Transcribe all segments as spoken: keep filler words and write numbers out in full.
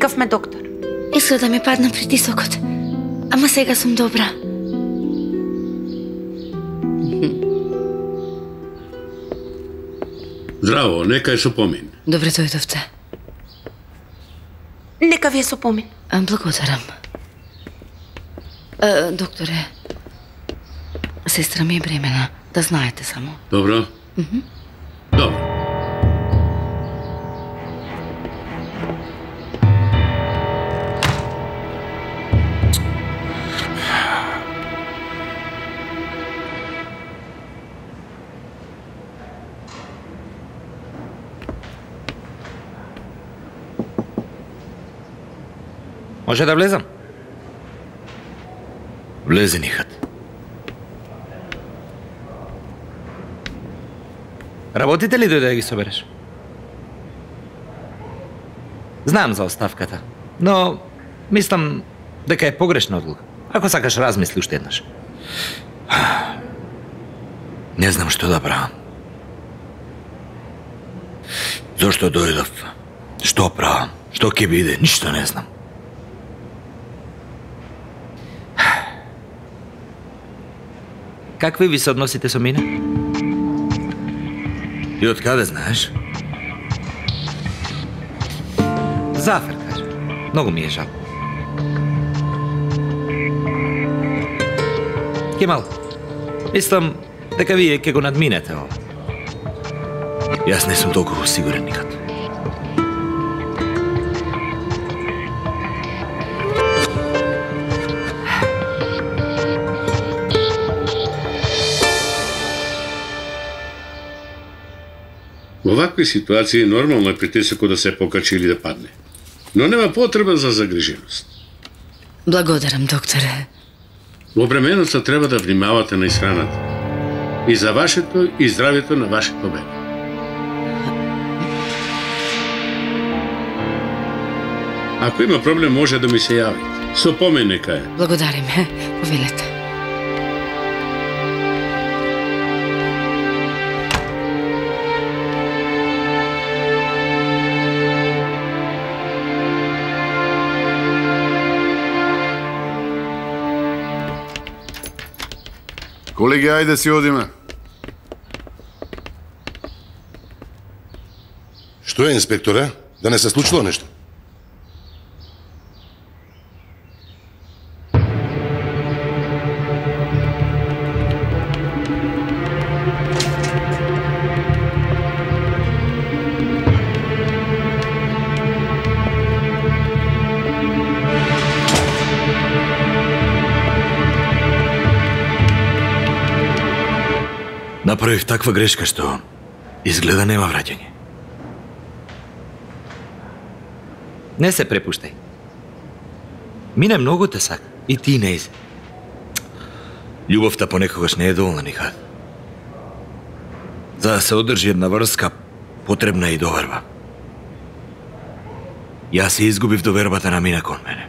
Видовме доктор. Изгледа ми падна притисокот. Ама сега сум добра. Здраво, нека е со помин. Добре дојдовте. Нека ви е со помин. А, благодарам. А, докторе, сестра ми е бремена, да знаете само. Добро? Mm-hmm. Добро. Може да влезам? Влези, Нихат. Работите ли дојде да ги собереш? Знам за оставката, но мислам дека е погрешна одлука. Ако сакаш, размисли уште еднаш. Не знам што да правам. Зошто дојдов? Што правам? Што ќе биде? Ништо не знам. Какви ви се односите со мене? И од каде знаеш? Зафер, кажа. Многу ми е жал. Кемал, мислам дека вие ќе го надминете ова. Јас не сум толку сигурен никад. Во вакви ситуации нормално е притисокот да се покачи или да падне. Но нема потреба за загриженост. Благодарам, докторе. Во бременоста треба да внимавате на исхраната. И за вашето и здравјето на вашето бебе. Ако има проблем, може да ми се јавите. Со помин нека е. Благодарим, повелете. Колеги, ајде си одиме. Што е, инспекторе? Да не се случило нешто? Направив таква грешка што изгледа нема враќање. Не се препуштај. Мине многу те сака. И ти нејзе. Љубовта понекогаш не е доволна, Нихат. За да се одржи една врска, потребна е и доверба. Јас се изгубив довербата на Мина кон мене.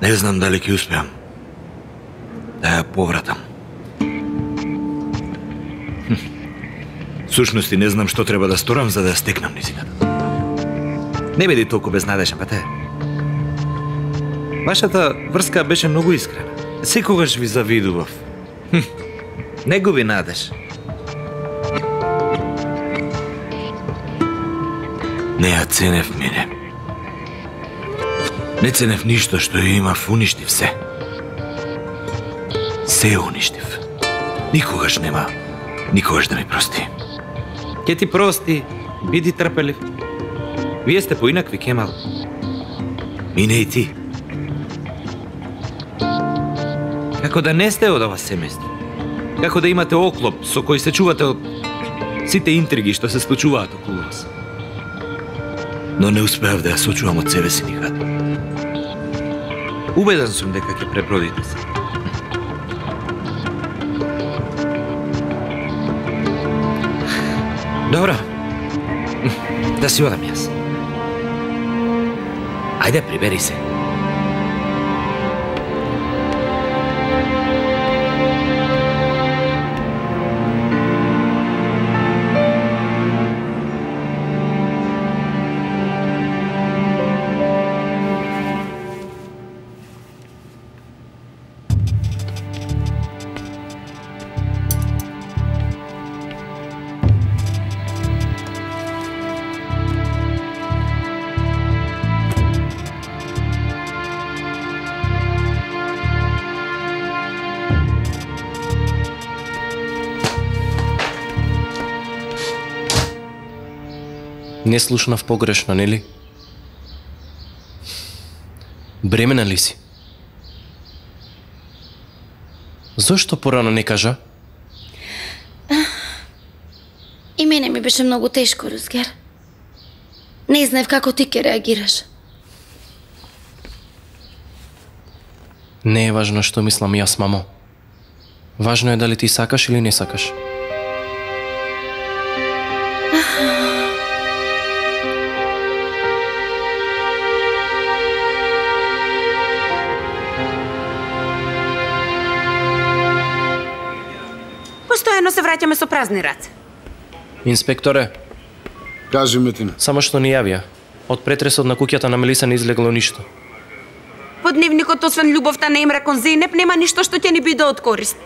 Не знам дали ќе успеам да ја повратам. Сушности не знам што треба да сторам за да ја стекнам низината. Не биди толку безнадежен, па те. Вашата врска беше многу искрена. Секогаш ви завидував. Хм. Не губи надеж. Не ја ценев мене. Не ценев ништо што ја имав, уништив се. Се уништив. Никогаш нема, никогаш да ми прости. Ке ти прости, биди трпелив. Вие сте поинакви, Кемал. Мине и ти. Како да не сте од ова семејство. Како да имате оклоп со кој се чувате од сите интриги што се случуваат околу вас. Но не успеав да ја сочувам од себе си никад. Убеден сум дека ќе пребродите се. Добро. Да си одам јас. Ајде, прибери се. Не слушнав погрешно, нели? Бремена ли си? Зошто порано не кажа? И мене ми беше многу тешко, Рузгер. Не знаев како ти ќе реагираш. Не е важно што мислам јас, мамо. Важно е дали ти сакаш или не сакаш. Постојано се враќаме со празни раце. Инспекторе, Кажи, Метина. само што ни јавија. Од претресот на куќата на Мелиса не излегло ништо. По дневникот, освен љубовта на Емре кон Зейнеп, нема ништо што ќе ни биде од корист.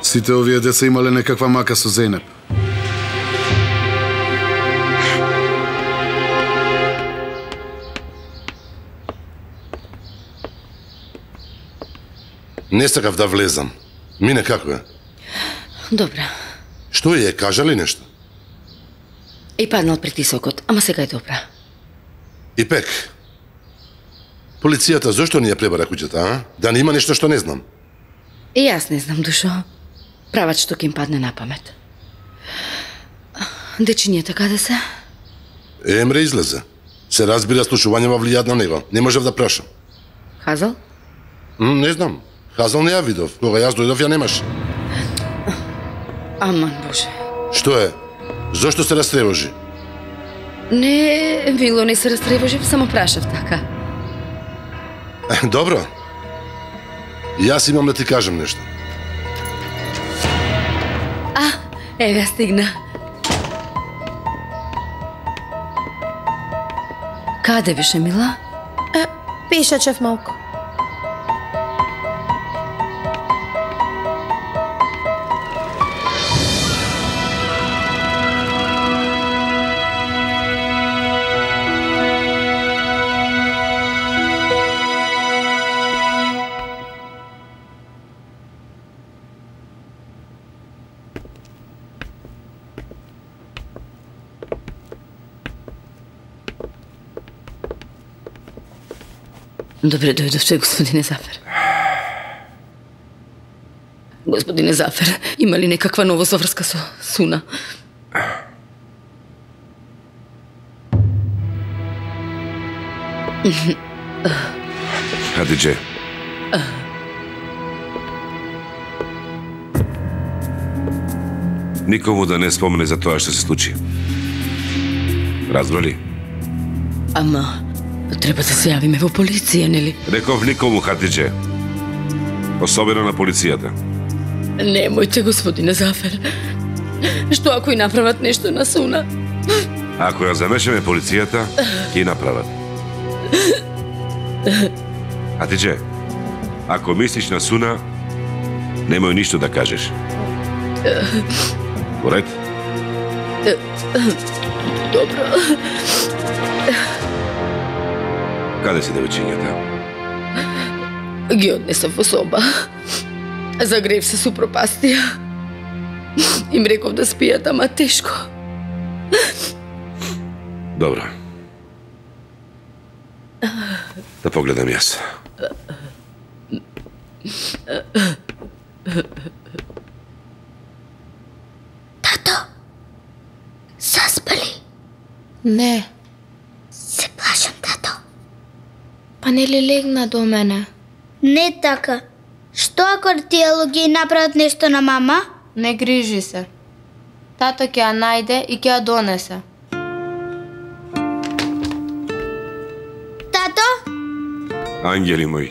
Сите овие деца имале некаква мака со Зейнеп. Не сакав да влезам. Мине како е? Добра. Што е, кажа ли нешто? И паднал притисокот, ама сега е добра. И пек. Полицијата зошто ни ја пребара куќата, а? Да не има нешто што не знам. И јас не знам, Душо. Прават што ќе им падне на памет. Дечињата каде се? Емре излезе. Се разбира, слушувањава влијаат на него. Не можев да прашам. Хазал? М, не знам. Хазал не ја видов. Кога јас дојдов, ја немаш. Аман, Боже. Што е? Зошто се растревожи? Не, мило, не се растревожив, само прашав така. Добро. Јас имам да ти кажам нешто. А, еве стигна. Каде беше, мила? Е, пешачев малку. Добре дојдовте, господине Зафер. Господине Зафер, има ли некаква новост во врска со Суна? Хадидже. Никому да не спомене за тоа што се случи. Разбрали? Ама, треба да се јавиме во полиција, нели? Реков никому, Хатидже. Особено на полицијата. Немојте, господине Зафер. Што ако и направат нешто на Суна? Ако ја замешаме полицијата, ќе и направат. Хатидже, ако мислиш на Суна, немој ништо да кажеш. Поред? Добро. Каде си девојчињата? Ги однесов во соба. Загрев се со пропастија. Им реков да спијат, ама тешко. Добро. Да погледам јас. Тато, заспали? Не. Се плашам, тато. Па нели легна до мене? Не така. Што ако артијалоги направат нешто на мама? Не грижи се. Тато ќе ја најде и ќе ја донесе. Тато? Ангели мои,